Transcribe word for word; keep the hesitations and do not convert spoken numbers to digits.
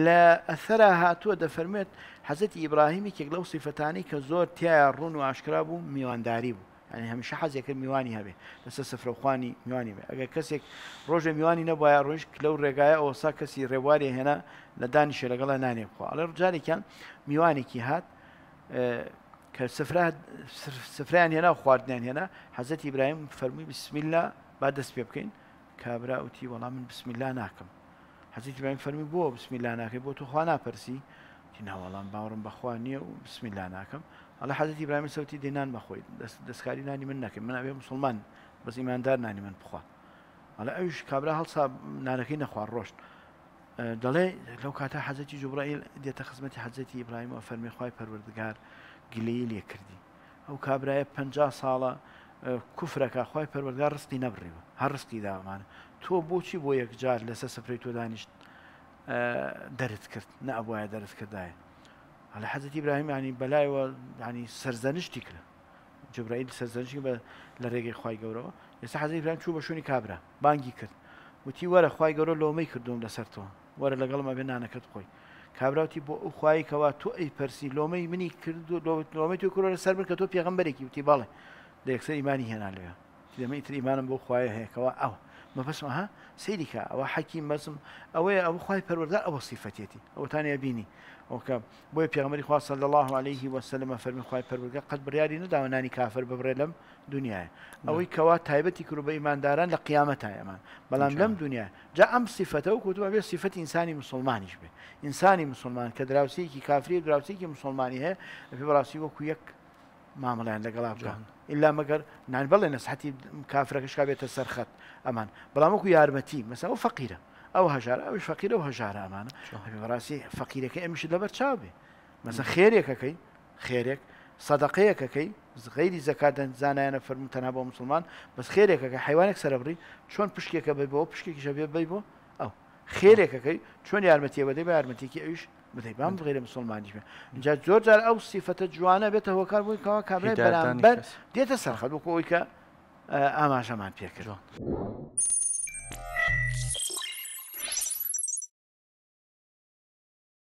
لە ئەثەرا هاتووە دەفەرمێت حەزرەتی ئیبراهیم یەکێک لەو سیفەتانەی کە زۆر تایە ڕوون و ئاشکرا بوو میوانداری بوو. یعنی هەمیشە حەزێک کرد میوانی هەبێ لەسەر سفرەخوانی میوانی بێ. ئەگەر کەسێک ڕۆژێ میوانی نەبوایە ڕۆیشت لەو ڕێگایە ئەوسا کەسی ڕێبواری هێنا لە دانیشێ لەگەڵە نانێ بخوا. ئەڵێ جارێکیان میوانێکی هات کە سفرەیان هێنا و خواردنیان هێنا، حەزرەتی ئیبراهیم فەرمووی بسم الله با دەست پێ بکەین. کابرا وتی وەڵام من بسم الله ناکەم. حەزرەتی ئیبراهیم فەرمووی بۆ بسم الله ناکەی؟ بۆ تۆ خوا ناپەرسی؟ وتی نا وەڵام باوەڕم بەخوا نییە و بسم الله ناکەم. ئەڵێ حەزرەتی ئیبراهیم سەوتی دێ نان بەخۆی، دەستکاری نانی من نەکەی، من ئەبێ مسلمان بەس ئیماندار نانی من بخوا. ئەڵێ ئەویش کابرا هەڵسا نانەکەی نەخوارد ڕۆشت. دەڵێ لەو کاتە حەزرەتی جوبرائیل دێتە خزمەتی حەزرەتی ئیبراهیم و فەرمی خوای پەروەردگار گلەیی لێ کردی. ئەو کابرایە پەنجا ساڵە کوفرەکە خوای پەروەردگار ڕزقی نەبڕیوە، هەر ڕزقی داوامانە. تۆ بۆچی بۆ یەکجار لەسەر سفرەی تۆ دانیشت دەرت کرد؟ نەئەبوایە دەرت کردایە. ئەڵێ حەزرەتی ئیبراهیم یعنی بەلایەوە یعنی سەرزەنشتی کرد، جوبرائیل سەرزەنشتی بە لە ڕێگەی خوای گەورەوە. ئێستا حەزرەتی ئیبراهیم چوو بە شوێنی کابرا بانگی کرد، وتی وەرە خوای گەورە لۆمەی کردوم لەسەر تۆ، وەرە لەگەڵم ئەبێ نانەکەت بخۆی. کابرا وتی بۆ ئەو خوایی کەوا تۆ ئەی پەرسی لۆمەی منی کرد و لۆمەی تۆ کردووە لەسەر من کە تۆ پێغەمبەرێکی. وتی بەڵێ. لە یەکسەر ئیمانی هێنا لەوێ. دەمە ئیتر ئیمانم بۆ خوایە هەیە کەوا ئەوە مەبەستم. ها سەیری کە ئەوە حەکیم بەسم ئەوەیە ئەوە خوای پەروەردگار ئەوە سیفەتێتی ئەوەتانە بینی. ئەوکە بۆیە پێغەمبەری خوا صلی الله علیه وسلم فەرمی خوای پەروەردگار قەت بڕیاری نەداوە نانی کافر ببڕێ لەم دنیایە، ئەوەی کەوا تایبەتی کرد بە ئیمانداران لە قیامەتایە ئەمان، بەڵام لەم دنیا جا ئەم سیفەتە و کۆتووە بێ سیفەتی ئینسانی مسلمانیش بێ. ئینسانی مسلمان کە دراوسێکی کافری و دراوسێکی مسلمانی هەیە ئەبێ بەڕاستی وەکو یەک مامەڵیان لەگەڵا بکەن، ئللا مەگەر نان بەڵێ نەسحەتی کافرەکەش کا بێتە سەرخەت ئەمان، بەڵام وەکو یارمەتی مەسەلا ئەو فەقیرە ئەو هەژارە ئەوش فەقیرە و هەژارە ئەمانە ئەبێ بەڕاستی فەقیرەکەی ئەمیشت لەبەر چاو بێ. مەسەلا خێرێکەکەی خێرێک سەدەقەیەکەکەی غەیری زەکات زانایانە فەرموو تەنها بۆ مسلمان، بەس خێرێکەکە حیوانێک سەرەبڕی چۆن پشکێکە بەی بۆ پشکێکیشە بێ بەی بۆ ئەو خێرێکەکەی چۆن یارمەتیە بەدەی بە یارمەتێکی ئەویش بدەی بام غیرە مسلمانیش بێ. اینجا زۆر جار ئەو سیفەتە جوانە بێتە هۆکار بووی کەوا کابرای بەرامبەر دێتە سەرخەت وەکو ئەوەی کە ئاماژەمان پێکرد.